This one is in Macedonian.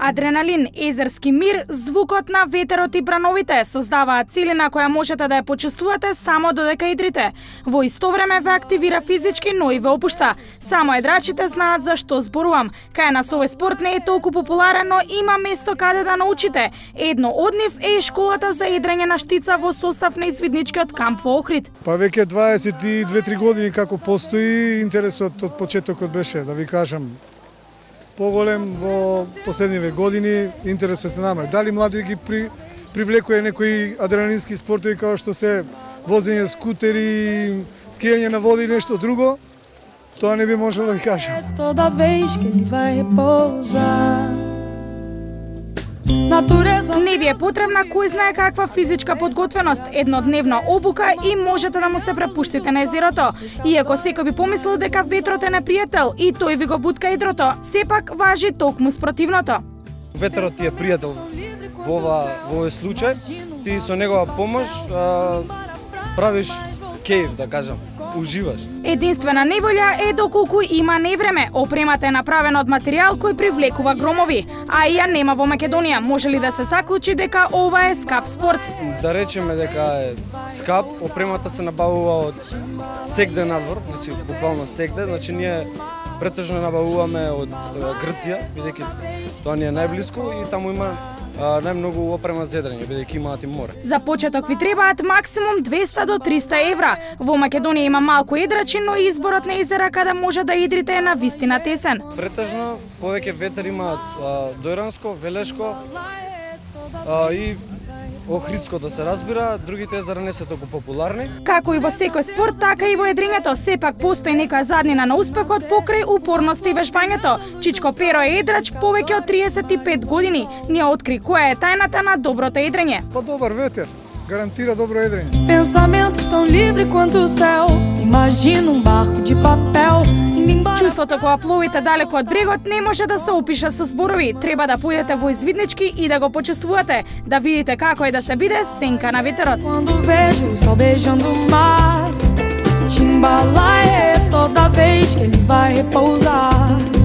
Адреналин, езерски мир, звукот на ветерот и брановите создаваат целина која можете да ја почувствувате само додека идрите. Во исто време ве активира физички, но и ве опушта. Само едрачите знаат за што зборувам. Кај нас овој спорт не е толку популарен, но има место каде да научите. Едно од нив е школата за едрење на штица во состав на извидничкиот камп во Охрид. Па веќе 22-3 години како постои, интересот од почетокот беше, да ви кажам, поголем во последниве години, интересот е намале. Дали млади ги привлекува некои адреналински спортови како што се возење скутери, скијање на вода и нешто друго, тоа не би можел да ви кажам. Toda vez que ele vai repousar. Не ви е потребна кој знае каква физичка подготвеност, еднодневна обука и можете да му се препуштите на езерото. Иако секој би помислил дека ветрот е непријател и тој ви го бутка едрото, сепак важи токму спротивното. Ветрот ти е пријател во овој случај, ти со негова помош правиш кејф, да кажам, уживаш. Единствена неволја е доколку има невреме. Опремата е направена од материјал кој привлекува громови, а и ја нема во Македонија. Може ли да се заклучи дека ова е скап спорт? Да речеме дека е скап, опремата се набавува од сегде надвор, значи буквално сегде, значи ние претежно набавуваме од Грција, бидејќи тоа ни е најблиску и таму има најмногу опрема за едрење, бидејќи имаат и море. За почеток ви требаат максимум 200 до 300 евра. Во Македонија има малку едрачи, но изборот на езера каде може да идрите е на вистина тесен. Претежно повеќе ветер имаат Дојранско, Велешко и Охридско, да се разбира, другите езера не се толку популарни. Како и во секој спорт, така и во едрењето, сепак постои некоја заднина на успехот покрај упорност и вежбањето. Чичко Перо е едрач повеќе од 35 години. Ние откри која е тајната на доброто едрење. Па добар ветер гарантира добро едрење. Pensamento tão livre quanto o céu. Imagina barco de papel. Чувството кога пловите далеко од брегот не може да се опише со зборови. Треба да поидете во извиднички и да го почувствувате, да видите како е да се биде сенка на ветерот. Quando vejo o sol beijando o mar, Timbalaê toda vez que ele vai repousar.